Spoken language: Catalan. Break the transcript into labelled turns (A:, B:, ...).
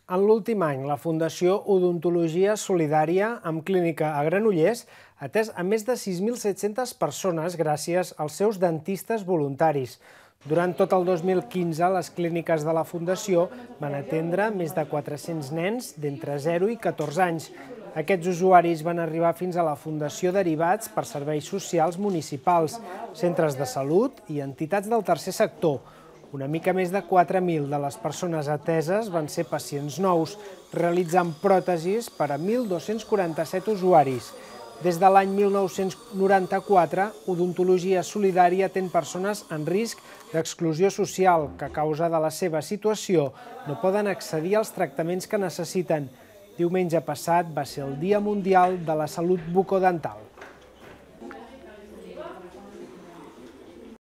A: En l'últim any, la Fundació Odontologia Solidària, amb clínica a Granollers, ha atès a més de 6.700 persones gràcies als seus dentistes voluntaris. Durant tot el 2015, les clíniques de la Fundació van atendre més de 400 nens d'entre 0 i 14 anys. Aquests usuaris van arribar fins a la Fundació derivats per serveis socials municipals, centres de salut i entitats del tercer sector. Una mica més de 4.000 de les persones ateses van ser pacients nous, realitzant pròtesis per a 1.247 usuaris. Des de l'any 1994, Odontologia Solidària atén persones en risc d'exclusió social que, a causa de la seva situació, no poden accedir als tractaments que necessiten. Diumenge passat va ser el Dia Mundial de la Salut Bucodental.